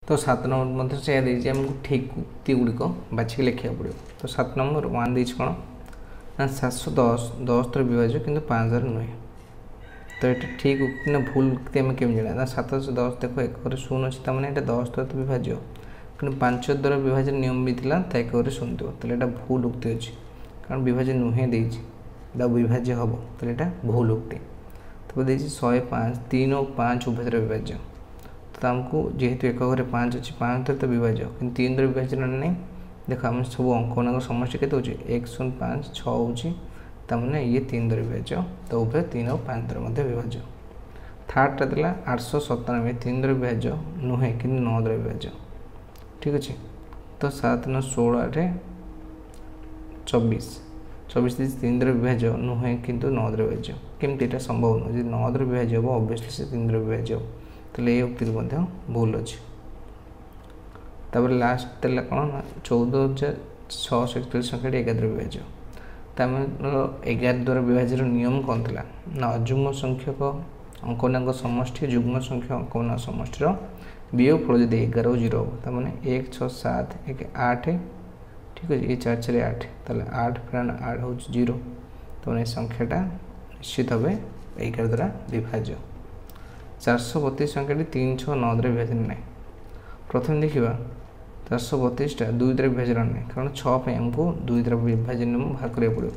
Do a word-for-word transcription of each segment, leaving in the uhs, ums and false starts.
ତ ସାତ ନମ୍ବର ମଧ୍ୟ ସେଇଆ ଦେଇଛି, ଆମକୁ ଠିକ୍ ଉକ୍ତି ଗୁଡ଼ିକ ବାଛିକି ଲେଖିବାକୁ ପଡ଼ିବ। ତ ସାତ ନମ୍ବର ୱାନ୍ ଦେଇଛି କ'ଣ ନା ସାତଶହ ଦଶ ଦଶ ଦ୍ୱାରା ବିଭାଜ୍ୟ କିନ୍ତୁ ପାଞ୍ଚ ଦ୍ୱାରା ନୁହେଁ। ତ ଏଇଟା ଠିକ୍ ଉକ୍ତି ନା ଭୁଲ ଉକ୍ତି ଆମେ କେମିତି ଜାଣିବା? ନା ସାତଶହ ଦଶ ଦେଖ ଏକରେ ଶୂନ ଅଛି, ତାମାନେ ଏଇଟା ଦଶ ଦ୍ୱାରା ତ ବିଭାଜ୍ୟ, କିନ୍ତୁ ପାଞ୍ଚ ଦ୍ୱାରା ବିଭାଜ୍ୟ ନିୟମ ବି ଥିଲା ତା ଏକରେ ଶୂନ ଥିବ, ତାହେଲେ ଏଇଟା ଭୁଲ ଉକ୍ତି ଅଛି, କାରଣ ବିଭାଜ୍ୟ ନୁହେଁ ଦେଇଛି, ତା ବିଭାଜ୍ୟ ହେବ, ତାହେଲେ ଏଇଟା ଭୁଲ ଉକ୍ତି। ତାପରେ ଦେଇଛି ଶହେ ପାଞ୍ଚ ତିନି ଓ ପାଞ୍ଚ ଉଭୟ ଦ୍ୱାରା ବିଭାଜ୍ୟ, ତ ଆମକୁ ଯେହେତୁ ଏକ ଘରେ ପାଞ୍ଚ ଅଛି, ପାଞ୍ଚ ଦ୍ୱାରା ତ ବିଭାଜ୍ୟ, କିନ୍ତୁ ତିନି ଦ୍ୱାରା ବିଭାଜ୍ୟ ନାହିଁ। ଦେଖ ଆମେ ସବୁ ଅଙ୍କମାନଙ୍କ ସମଷ୍ଟି କେତେ ହେଉଛି? ଏକ ଶୂନ ପାଞ୍ଚ ଛଅ ହେଉଛି, ତାମାନେ ଇଏ ତିନି ଦ୍ୱାରା ବିଭାଜ୍ୟ, ତ ଉଭୟ ତିନି ଓ ପାଞ୍ଚ ଦ୍ୱାରା ମଧ୍ୟ ବିଭାଜ୍ୟ। ଥାର୍ଡ଼ଟା ଥିଲା ଆଠଶହ ସତାନବେ ତିନି ଦ୍ୱାରା ବିଭାଜ୍ୟ ନୁହେଁ କିନ୍ତୁ ନଅ ଦ୍ୱାରା ବିଭାଜ୍ୟ, ଠିକ୍ ଅଛି। ତ ସାତ ନଅ ଷୋହଳ ଆଠ ଚବିଶ, ଚବିଶ ଦେଇଛି ତିନି ଦ୍ୱାରା ବିଭାଜ୍ୟ ନୁହେଁ କିନ୍ତୁ ନଅ ଦ୍ୱାରା ବିଭାଜ୍ୟ, କେମିତି ଏଇଟା ସମ୍ଭବ ନୁହେଁ? ଯଦି ନଅ ଦ୍ୱାରା ବିଭାଜ୍ୟ ହେବ ଅବଭିୟସଲି ସେ ତିନି ଦ୍ୱାରା ବିଭାଜ୍ୟ ହେବ, ତାହେଲେ ଏ ଉକ୍ତିଟି ମଧ୍ୟ ଭୁଲ ଅଛି। ତାପରେ ଲାଷ୍ଟ ଥିଲା କ'ଣ ନା ଚଉଦ ହଜାର ଛଅଶହ ଏକଚାଳିଶ ସଂଖ୍ୟାଟି ଏଗାର ଦ୍ୱାରା ବିଭାଜ୍ୟ। ତାଙ୍କର ଏଗାର ଦ୍ୱାରା ବିଭାଜ୍ୟର ନିୟମ କ'ଣ ଥିଲା ନା ଅଯୁଗ୍ମ ସଂଖ୍ୟକ ଅଙ୍କମାନଙ୍କ ସମଷ୍ଟି ଯୁଗ୍ମ ସଂଖ୍ୟା ଅଙ୍କମାନଙ୍କ ସମଷ୍ଟିର ବିୟୋଗ ଫଳ ଯଦି ଏଗାର ଓ ଜିରୋ ହେବ, ତାମାନେ ଏକ ଛଅ ସାତ ଏକ ଆଠ, ଠିକ୍ ଅଛି, ଏ ଚାରି ଚାରି ଆଠ, ତାହେଲେ ଆଠ ଫେରାଣ ଆଠ ହେଉଛି ଜିରୋ, ତାମାନେ ଏ ସଂଖ୍ୟାଟା ନିଶ୍ଚିତ ଭାବେ ଏଗାର ଦ୍ୱାରା ବିଭାଜ୍ୟ। ଚାରିଶହ ବତିଶ ସଂଖ୍ୟାଟି ତିନି ଛଅ ନଅ ଦ୍ୱାରା ବିଭାଜ୍ୟ ନାହିଁ। ପ୍ରଥମେ ଦେଖିବା ଚାରିଶହ ବତିଶଟା ଦୁଇ ଦ୍ୱାରା ବିଭାଜ୍ୟ ନାହିଁ, କାରଣ ଛଅ ପାଇଁ ଆମକୁ ଦୁଇ ଦ୍ୱାରା ବିଭାଜ୍ୟ ନିୟମ ବାହାର କରିବାକୁ ପଡ଼ିବ।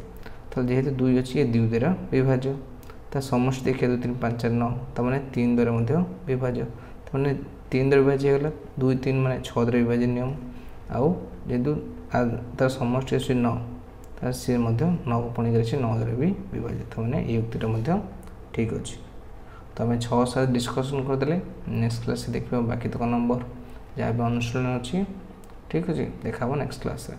ତାହେଲେ ଯେହେତୁ ଦୁଇ ଅଛି ଏ ଦୁଇ ଦ୍ୱାରା ବିଭାଜ୍ୟ, ତା ସମଷ୍ଟି ଦେଖିବା ଦୁଇ ତିନି ପାଞ୍ଚ ଚାରି ନଅ, ତାମାନେ ତିନି ଦ୍ୱାରା ମଧ୍ୟ ବିଭାଜ୍ୟ, ତାମାନେ ତିନି ଦ୍ୱାରା ବିଭାଜ୍ୟ ହେଇଗଲା, ଦୁଇ ତିନି ମାନେ ଛଅ ଦ୍ୱାରା ବିଭାଜ୍ୟ ନିୟମ, ଆଉ ଯେହେତୁ ତାର ସମଷ୍ଟି ଅଛି ନଅ, ତାହେଲେ ସିଏ ମଧ୍ୟ ନଅକୁ ପୁଣି ଅଛି ନଅ ଦ୍ୱାରା ବି ବିଭାଜ୍ୟ, ତାମାନେ ଏଇ ଉକ୍ତିଟା ମଧ୍ୟ ଠିକ୍ ଅଛି। ତ ଆମେ ଛଅ ସାତ ଡିସ୍କସନ୍ କରିଦେଲେ, ନେକ୍ସଟ କ୍ଲାସ୍ରେ ଦେଖିବା ବାକି ତକ ନମ୍ବର ଯାହା ବି ଅନୁଶୀଳନ ଅଛି, ଠିକ୍ ଅଛି, ଦେଖା ହେବ ନେକ୍ସଟ କ୍ଲାସ୍ରେ।